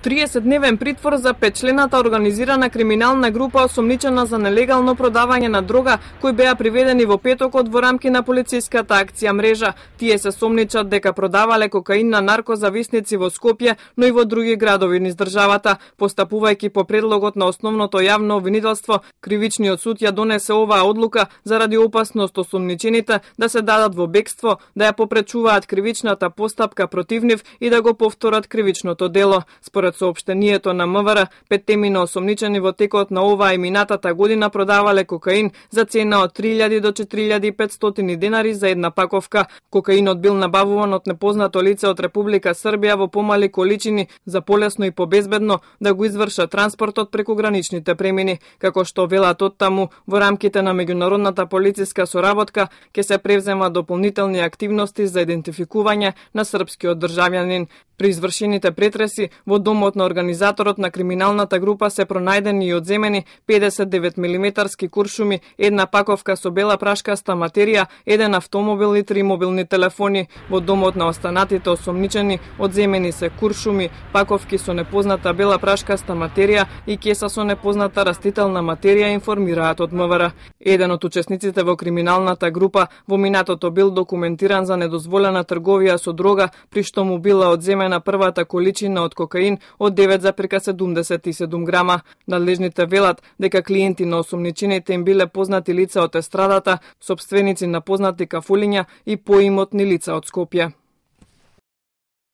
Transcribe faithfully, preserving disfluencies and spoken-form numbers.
триесетдневен притвор за петчлената организирана криминална група осомничена за нелегално продавање на дрога, кои беа приведени во петокот во рамки на полициската акција Мрежа. Тие се сомничат дека продавале кокаин на наркозависници во Скопје, но и во други градови низ државата. Постапувајќи по предлогот на основното јавно обвинителство, кривичниот суд ја донесе оваа одлука заради опасност осомничените да се дадат во бегство, да ја попречуваат кривичната постапка против нив и да го повторат кривичното дело. Според соопштението на МВР, петтемино осомничени во текот на оваа и минатата година продавале кокаин за цена од три илјади до четири илјади и петстотини денари за една паковка. Кокаинот бил набавуван од непознато лице од Република Србија во помали количини за полесно и побезбедно да го извршат транспортот преку граничните премини. Како што велат оттаму, во рамките на меѓународната полициска соработка ќе се превзема дополнителни активности за идентификување на српскиот државјанин. При извршените претреси во домот на организаторот на криминалната група се пронајдени и одземени педесет и девет милиметарски куршуми, една паковка со бела прашкаста материја, еден автомобил и три мобилни телефони. Во домот на останатите осомничени одземени се куршуми, паковки со непозната бела прашкаста материја и кеса со непозната растителна материја, информираат од МВР. Еден од учесниците во криминалната група во минатото бил документиран за недозволена трговија со дрога, при што му била одземена на првата количина од кокаин од девет зарез седумдесет и седум грама. Надлежните велат дека клиенти на осомничените им биле познати лица од естрадата, сопственици на познати кафулиња и поимотни лица од Скопје.